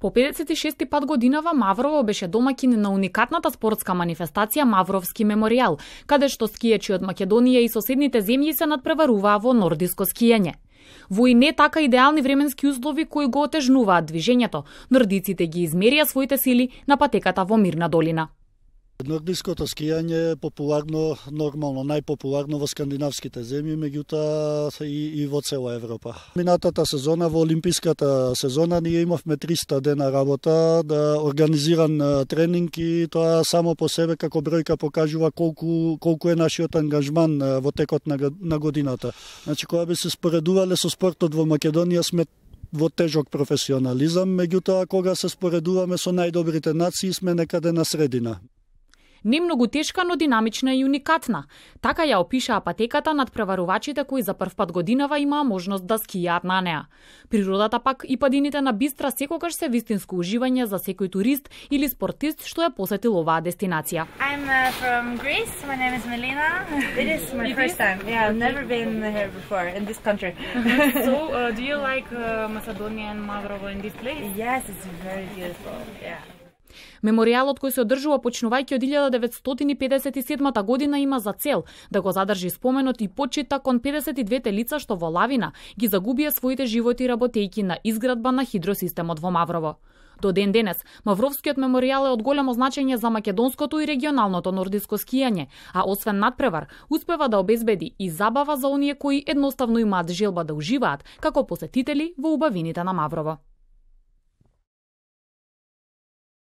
По 56 пат годинава Маврово беше домаќин на уникатната спортска манифестација Мавровски меморијал, каде што скијачи од Македонија и соседните земји се надпреваруваа во нордиско скијање. Во и не така идеални временски услови кои го отежнуваат движењето, нордиците ги измерија своите сили на патеката во Мирна долина. Нордиското скијање е популарно, нормално најпопуларно во скандинавските земји, меѓутоа и во цела Европа. Минатата сезона, во олимписката сезона, ние имавме 300 дена работа, организиран тренинг и тоа само по себе како бројка покажува колку е нашиот ангажман во текот на годината. Значи, кога би се споредувале со спортот во Македонија, сме во тежок професионализам, меѓутоа кога се споредуваме со најдобрите нации, сме некаде на средина. Не многу тешка, но динамична и уникатна. Така ја опишаа патеката над преварувачите кои за прв пат годинава имаа можност да скијаат на неа. Природата пак и падините на Бистра секогаш се вистинско уживање за секој турист или спортист што ја посетил оваа дестинација. I'm from Greece. My name is Melina. It is my first time. Yeah, I've never been here before in this country. So, do you like Macedonia and Mavrovo in this place? Yes, it's very beautiful. Yeah. Меморијалот кој се одржува почнувајќи од 1957 година има за цел да го задржи споменот и почита кон 52 лица што во лавина ги загубија своите животи работејќи на изградба на хидросистемот во Маврово. До ден денес, Мавровскиот меморијал е од големо значење за македонското и регионалното нордиско скијање, а освен надпревар, успева да обезбеди и забава за оние кои едноставно имаат желба да уживаат како посетители во убавините на Маврово.